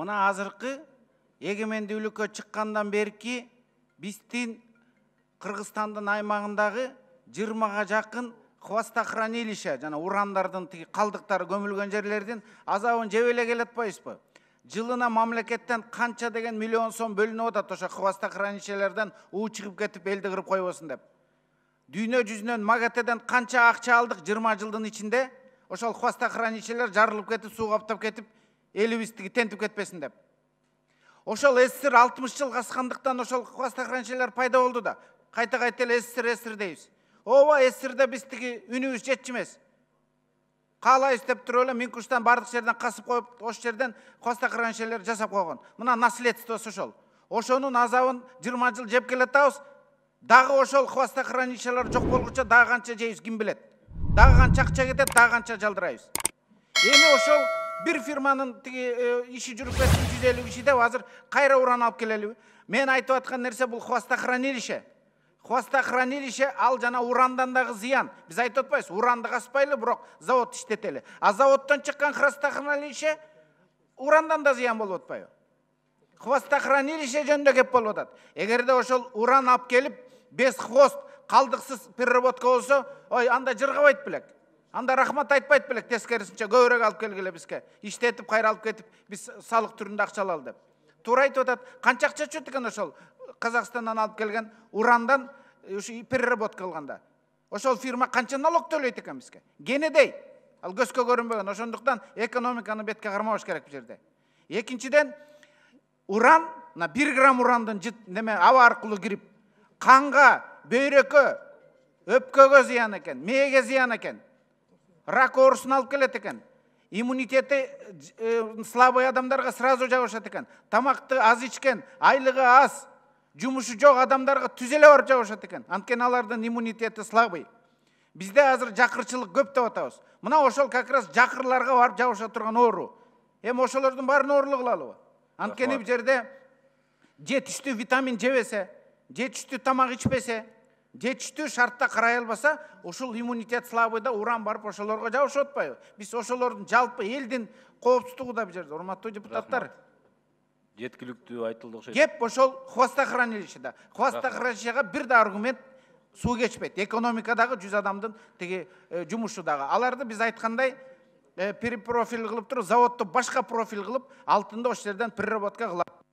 мына азыркы эгемендүүлүккө чыккандан берки биздин Кыргызстандын аймагындагы 20га жакын хвостохранилище жана урандардын тиги калдыктары көмүлгөн жерлердин азабын жеп эле келатпайбызбы? Жылына мамлекеттен канча деген миллион сом бөлүнүп атат ошо хвостохранилищелерден уу чыгып кетип элди кырып койбосун деп. Дүйнө жүзүнөн МАГАТЭден канча акча алдык 20 жылдын ичинде ошол хвостохранилищелер жарылып кетип, суу каптап кетип, элибиз тиги тентип кетпесин деп. Ошол СССР 60 жыл каскандыктан ошол хвостохранилищелер пайда болду да. Кайта эле СССР дейбиз. Ооба, СССРде биз тиги үнүбүз жетчү эмес. Каалайбыз деп туруп эле Минкуштан бардык жерден касып коюп, ошол жерден хвостохранилищелер жасап койгон. Мына наследствосу ошол. Ошонун азабын 20 жыл жеп келатабыз. Дагы ошол хвостохранилищелер жок болгуча дагы канча жейбиз ким билет. Дагы канча акча кетет, дагы канча жалдырайбыз. Эми ошол бир фирманын тиги иши жүрүп кетти 150 киши деп азыр кайра уран алып келелиби? Мен айтып аткан нерсе бул хвостохранилище. Хвостохранилище ал жана урандан дагы зыян. Биз айтып атпайбыз, уранды каспайлы, бирок завод иштетели. А заводдон чыккан хвостохранилище урандан да зыян болуп атпайбы? Хвостохранилище жөнүндө кеп болуп атат. Эгерде ошол уран алып келип, без хвост, калдыксыз переработка болсо, ой, анда жыргабайт белек. Анда рахмат айтпайт белек, тескерисинче көбүрөөк алып келгиле бизге. Иштетип, кайра алып кетип, биз салык түрүндө акча алалы деп. Туура айтып атат. Канча акча чөт экен ошол Казакстандан алып келген урандан ушу переработка кылганда. Ошол фирма канча налог төлөйт экен бизге? Кенедей. Ал көзгө көрүнбөгөн. Ошондуктан экономиканы бетке кармабаш керек бу жерде. Экинчиден, уран, 1 грамм урандын аба аркылуу кирип, канга, бөйрөккө, өпкөгө зыян экен, мээге зыян экен. Рак оорусун алып келет экен. Иммунитети слабый адамдарга сразу жабышат экен. Тамакты аз ичкен, айлыгы аз, жумушу жок адамдарга түз эле барып жабышат экен. Анткени алардын иммунитети слабый. Бизде азыр жакырчылык көп деп атабыз. Мына ошол как раз жакырларга барып жабыша турган оору. Эми ошолордун баарын оорулук кылалыбы? Анткени бу жерде жетиштүү витамин жебесе, жетиштүү тамак ичпесе, жетиштүү шартта карай албаса, ушул иммунитет слабыйда уран барып ошолорго жабышып атпайбы? Биз ошолордун жалпы элдин коопсуздугу да бу жерде, урматтуу депутаттар. Жеткиликтүү айтылды окшойт. Кеп ошол хвостохранилищеде. Хвостохранилищеге бир да аргумент суу кечпейт. Экономикадагы 100 адамдын тиги жумушу дагы. Аларды биз айткандай перепрофиль кылып туруп, заводду башка профиль кылып, алтынды ошол жерден переработка кылат.